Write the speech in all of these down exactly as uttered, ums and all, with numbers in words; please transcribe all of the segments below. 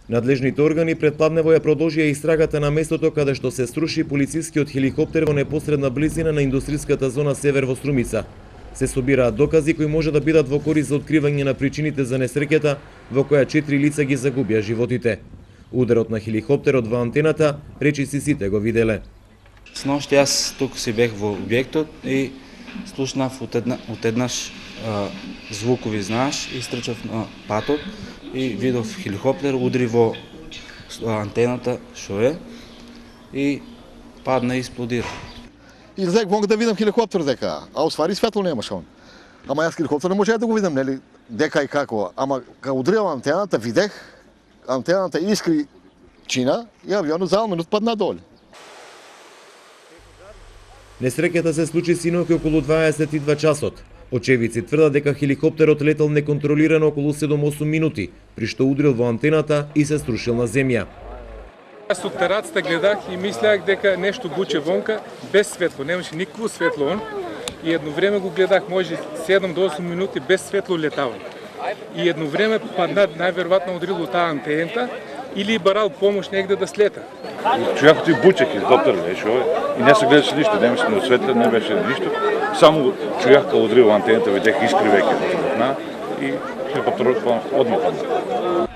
Надлежните органи предпладнево ја продолжија истрагата на местото каде што се струши полицискиот хеликоптер во непосредна близина на индустријската зона Север во Струмица. Се собираат докази кои може да бидат во корист за откривање на причините за несреќата во која четири лица ги загубија животите. Ударот на хеликоптерот во антената, речиси сите го виделе. Сношти јас тук си бех во објектот и слушнав од една, од еднаш а, звукови, знаеш, и стрчав на патот и видов хеликоптер удри во антената што е и падна и експлодира. И излег вонка да видам хеликоптер дека, а уствари светло немаше он. Ама јас хеликоптер не можеа да го видам, нели, дека и како. Ама кога удрила антената, видех, антената искри чина и авионот за минут падна доле. Несреќата се случи синоќ околу дваесет и два часот. Очевици тврдат дека хеликоптерот летел неконтролирано околу седум-осум минути, при што удрил во антената и се струшил на земја. Јас од терацата гледах и мислеах дека нешто буче вонка без светло, немаше никакво светло он. И едно време го гледах може седум до осум минути без светло летало. И едно време падна најверојатно удрило таа антената или барал помош негде да слета. Чујах ти буче хеликоптер беше и не се гледаше ништо, немаше ни осветлен, не беше ништо. Само чујах кога удрил антената, видех искри веќе и хеликоптерот одма падна.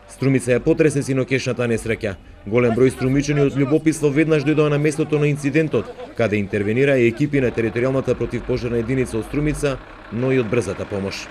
Струмица ја потресе синокешната несреќа. Голем број струмичани од љубопитство веднаш дојдоа на местото на инцидентот, каде интервенира и екипи на територијалната противпожарна единица од Струмица, но и од брзата помош.